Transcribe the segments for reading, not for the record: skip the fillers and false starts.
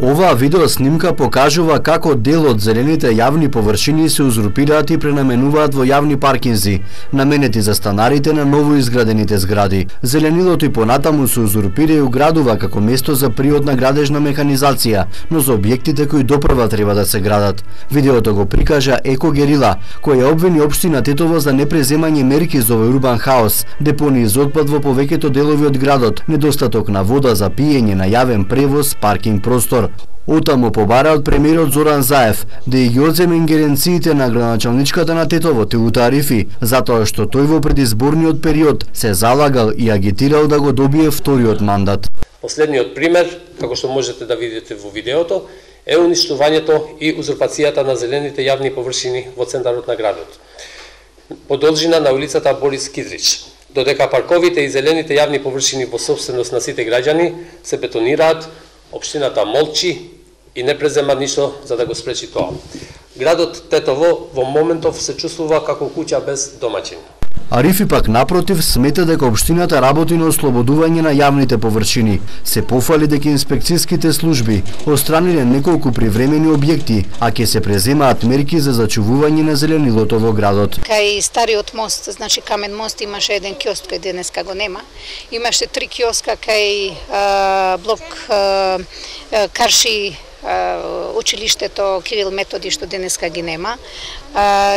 Оваа видеоснимка покажува како дел од зелените јавни површини се узурпираат и пренаменуваат во јавни паркинзи, наменети за станарите на новоизградените згради. Зеленилото и понатаму се узурпира и уградува како место за приодна градежна механизација, но за објектите кои допрва треба да се градат. Видеото го прикажа Еко Герила, која обвини општина Тетово за непреземање мерки за овој урбан хаос, депонии за отпад во повеќето делови од градот, недостаток на вода за пиење, на јавен превоз, паркинг простор. Отаму побара од премиерот Зоран Заев да ги одземе ингеренциите на градоначалничката на Тетово Тилута Арифи, затоа што тој во предизборниот период се залагал и агитирал да го добие вториот мандат. Последниот пример, како што можете да видите во видеото, е уништувањето и узурпацијата на зелените јавни површини во центарот на градот, по должина на улицата Борис Кидрич, додека парковите и зелените јавни површини во сопственост на сите граѓани се бетонираат, општината молчи и не презема ништо за да го спречи тоа. Градот Тетово во моментов се чувствува како куќа без домаќин. Арифи пак напротив смета дека општината работи на ослободување на јавните површини. Се пофали дека инспекцијските служби отстраниле неколку привремени објекти, а ќе се преземаат мерки за зачувување на зеленилото во градот. Кај стариот мост, значи Камен мост, имаше еден киоск кој денеска го нема. Имаше 3 киоска кај блок Карши училиштето Кирил Методи што денеска ги нема.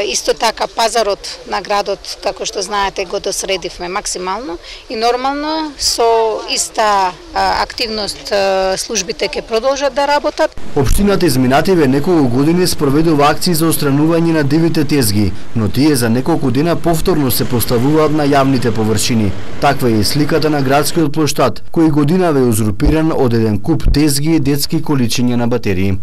Исто така пазарот на градот, како што знаете, го досредивме максимално и нормално со иста активност службите ќе продолжат да работат. Општината изминативе неколку години спроведува акции за отстранување на дивите тезги, но тие за неколку дена повторно се поставуваат на јавните површини. Таква е и сликата на градскиот плоштад, кој годинава е узурпиран од еден куп тезги и детски количиња на батерии.